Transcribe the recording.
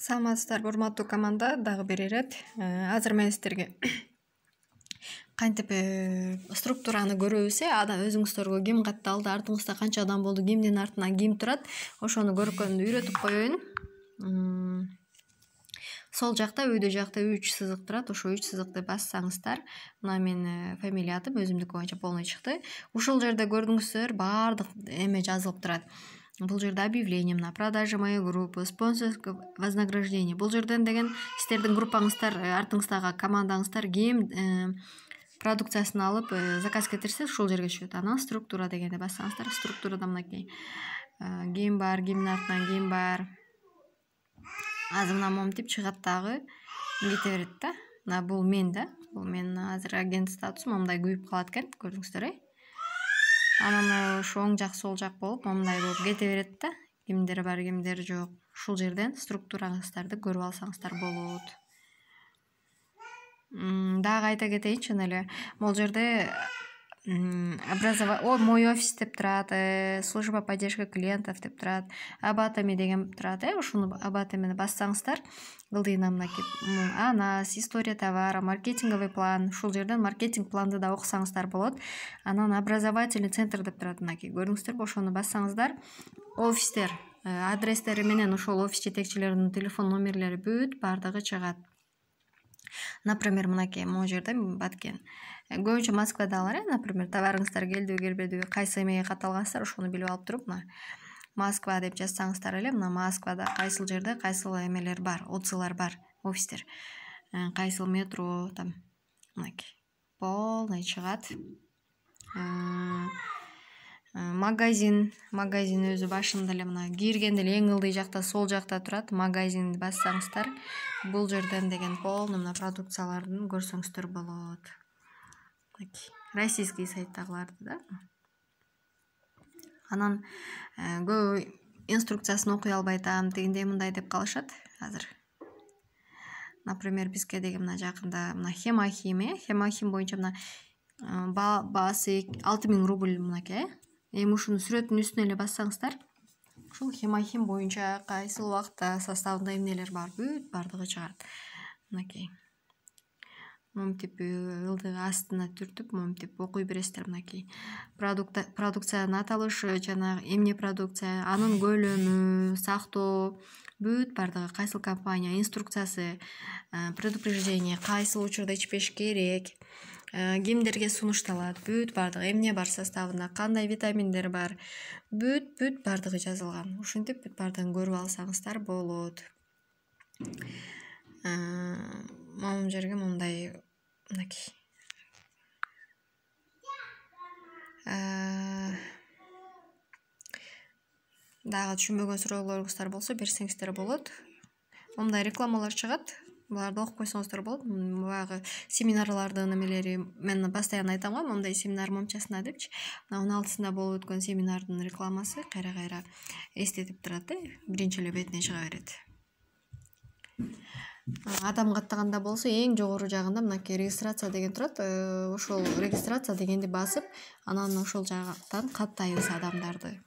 Саламатсыздарбы, урматтуу команда, дагы бир ирет. Азыр мен сиздерге кантип структураны көрөбүз, өзүңүздөргө ким катталды, артыңызда канча адам болду, кимдин артынан ким турат, ошону көргөндү үйрөтүп коеюн. Сол жакта, өйдө жакта 3 сызык турат. Ошо 3 сызыкты бассаңыздар, мына менин фамилия атым өзүмдүкү боюнча полный чыкты. Ушул жерде көрдүңүздөр, баардык эме жазылып турат. Бул жерде объявление, на продажа моей группы, спонсорское вознаграждение. Бул жерден деген сиздердин группаңыздар, артыңыздагы командаңыздар ким продукциясын алып заказ кетирсе, ушул жерге түшөт. Анан структура дегенди бассаңыздар, структурада мынакей ким бар, кимдин артынан ким бар. Азыр мына момтип чыгат, дагы кете берет да. Мына бул мен да. Бул мен азыр агент статусум момундай күйүп калат экен, көрдүңүздөр. Анан ошо оң жак, сол жак болуп, момундай болуп кете берет да. Кимдер бар, кимдер жок. Ушул жерден структураңыздарды көрүп алсаңыздар болот. Дагы айта кетейинчи, чын эле бул жерде мой офис деп турат, служба поддержка клиентов деп турат, абатами деген турат. Ушуну абатамини бассаңыздар, ылдыйына мынакей анас, история товара, маркетинговый план. Ушул жерден маркетинг планды да окусаңыздар болот. Анан образовательный центр деп турат, мынакей көрдүңүздөрбү, ошону бассаңыздар, офистер адрестери менен ошол офис жетекчилеринин телефон номерлери бүт баардыгы чыгат. Например, мынакей могу жерде баткен. Көбүнчө Москвадагылар, например, товарыңыздар келдиби, келбедиби, кайсы эмеге катталгансыздар, ошону билип алып туруп, мына Москва деп жазсаңыздар эле, мына Москвада кайсыл жерде кайсыл эмелер бар, отзывлар бар, офистер. Кайсыл метро, там мынакей полный чыгат. Магазин өзү башында эле мына киргенде эле эң ылдый жакта, сол жакта турат. Магазинди бассаңыздар, бул жерден деген полный мына продукциялардын көрсөңүздөр болот. Российский сайттагыларды да. Анан көбү инструкциясын окуй албай атам, тигиндей мындай деп калышат азыр. Например, бизге деген мына жакында мына Хемахим боюнча мына баасы 6000 рубль мынакей. Эми ушуну сүрөтүнүн үстүнө эле бассаңыздар, ушул Хемахим боюнча кайсыл убакта составында эмнелер бар, бүт баардыгы чыгат. Мынакей момтип ылдыгы астына түртүп, момтип окуй бересиздер. Мынакей продукциянын аталышы, жанагы эмне продукция, анын көлөмү, сактоо, бүт баардыгы кайсыл компания, инструкциясы, предупреждение, кайсыл учурда ичпеш керек, кимдерге сунушталат, бүт баардыгы эмне бар составында, кандай витаминдер бар, бүт баардыгы жазылган. Ушинтип бүт баардыгын көрүп алсаңыздар болот. Момун жерге мындай мынакей дагы түшүнбөгөн суроолоруңуздар болсо берсеңиздер болот. Мындай рекламалар чыгат, буларды окуп койсоңуздар болот. Баягы семинарлардын эмелери мен постоянно айтам го, мындай семинар момчасына депчи. Мына 16-сында болуп өткөн семинардын рекламасы кайра эстетип турат, биринчи эле бетине чыга берет. Адам каттаганда болсо эң жогору жагында мынакей регистрация деген турат. Ошол регистрация дегенди басып, анан ошол жактан каттайбыз адамдарды.